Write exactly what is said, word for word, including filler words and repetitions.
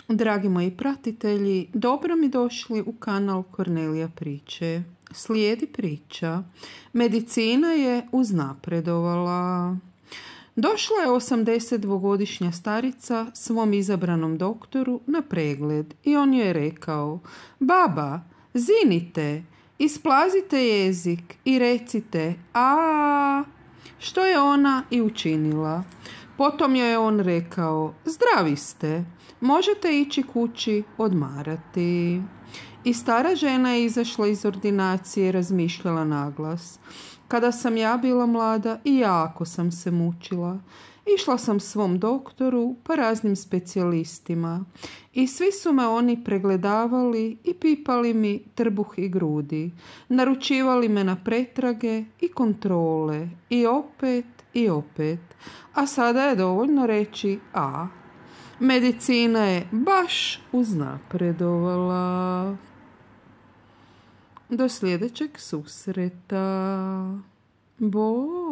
Dragi moji pratitelji, dobro mi došli u kanal Kornelija priče. Slijedi priča. Medicina je uznapredovala. Došla je osamdesetdvogodišnja starica svom izabranom doktoru na pregled i on joj je rekao: baba, zinite, isplazite jezik i recite a, što je ona i učinila. Potom joj je on rekao: zdravi ste, možete ići kući odmarati. I stara žena je izašla iz ordinacije i razmišljala naglas: kada sam ja bila mlada i jako sam se mučila. Išla sam svom doktoru pa raznim specijalistima i svi su me oni pregledavali i pipali mi trbuh i grudi. Naručivali me na pretrage i kontrole i opet i opet. A sada je dovoljno reći a. Medicina je baš uznapredovala. Do sljedećeg susreta. Bog.